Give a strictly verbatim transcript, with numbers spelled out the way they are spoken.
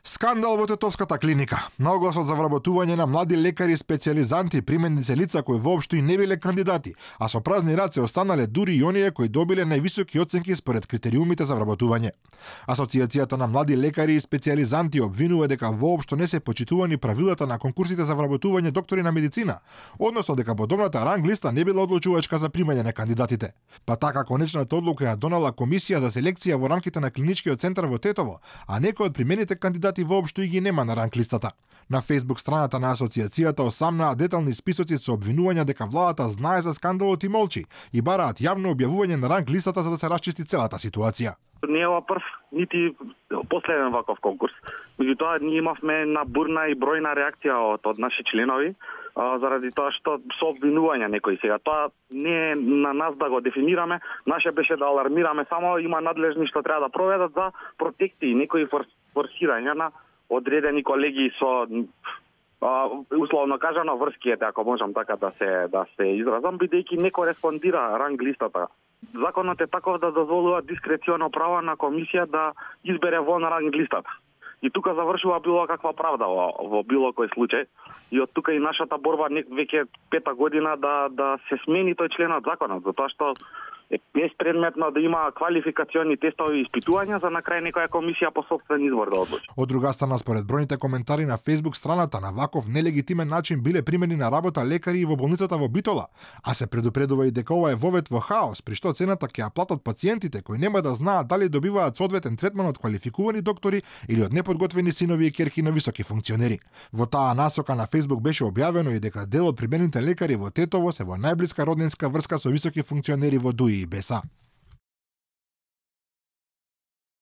Скандал во Тетовската клиника. На огласот за вработување на млади лекари специјализанти применени се лица кои воопшто и не биле кандидати, а со празни раце останале дури и оние кои добиле највисоки оценки според критериумите за вработување. Асоциацијата на млади лекари и специјализанти обвинува дека воопшто не се почитувани правилата на конкурсите за вработување доктори на медицина, односно дека подобната ранг листа не била одлучувачка за примање на кандидатите. Па така конечната одлука ја донела комисија за селекција во рамките на клиничкиот центар во Тетово, а некои од примените кандидати воопшто и ги нема на ранг листата. На Facebook страната на асоциацијата осамнаа детални списоци со обвинувања дека владата знае за скандалот и молчи и бараат јавно објавување на ранг листата за да се расчисти целата ситуација. Не е ова прв, нити последен ваков конкурс. Меѓутоа, ние имавме на бурна и бројна реакција од, од наши членови, а, заради тоа што со обвинувања некои сега. Тоа не е на нас да го дефинираме, наше беше да алармираме, само има надлежни што треба да проведат за протекции, некои форсирања на одредени колеги со а, условно кажано врскиете, ако можам така да се да се изразам, бидејќи не кореспондира ранг листата. Законот е таков да дозволува дискреционо право на комисија да избере во ранг листата. И тука завршува било каква правда во, во било кој случај. И од тука и нашата борба веќе пета година да да се смени тој член од законот, затоа што е беспредметно да има квалификациони тестови и испитувања за на крај некоја комисија по сопствен избор да одлучи. Од друга страна, според бројните коментари на Facebook страната, на ваков нелегитимен начин биле примени на работа лекари и во болницата во Битола, а се предупредува и дека ова е вовед во хаос, при што цената ќе ја платат пациентите кои нема да знаат дали добиваат соодветен третман од квалификувани доктори или од неподготвени синови и ќерки на високи функционери. Во таа насока на Facebook беше објавено и дека дел од примените лекари во Тетово се во најблиска роднинска врска со високи функционери во ДУИ и БЕСА.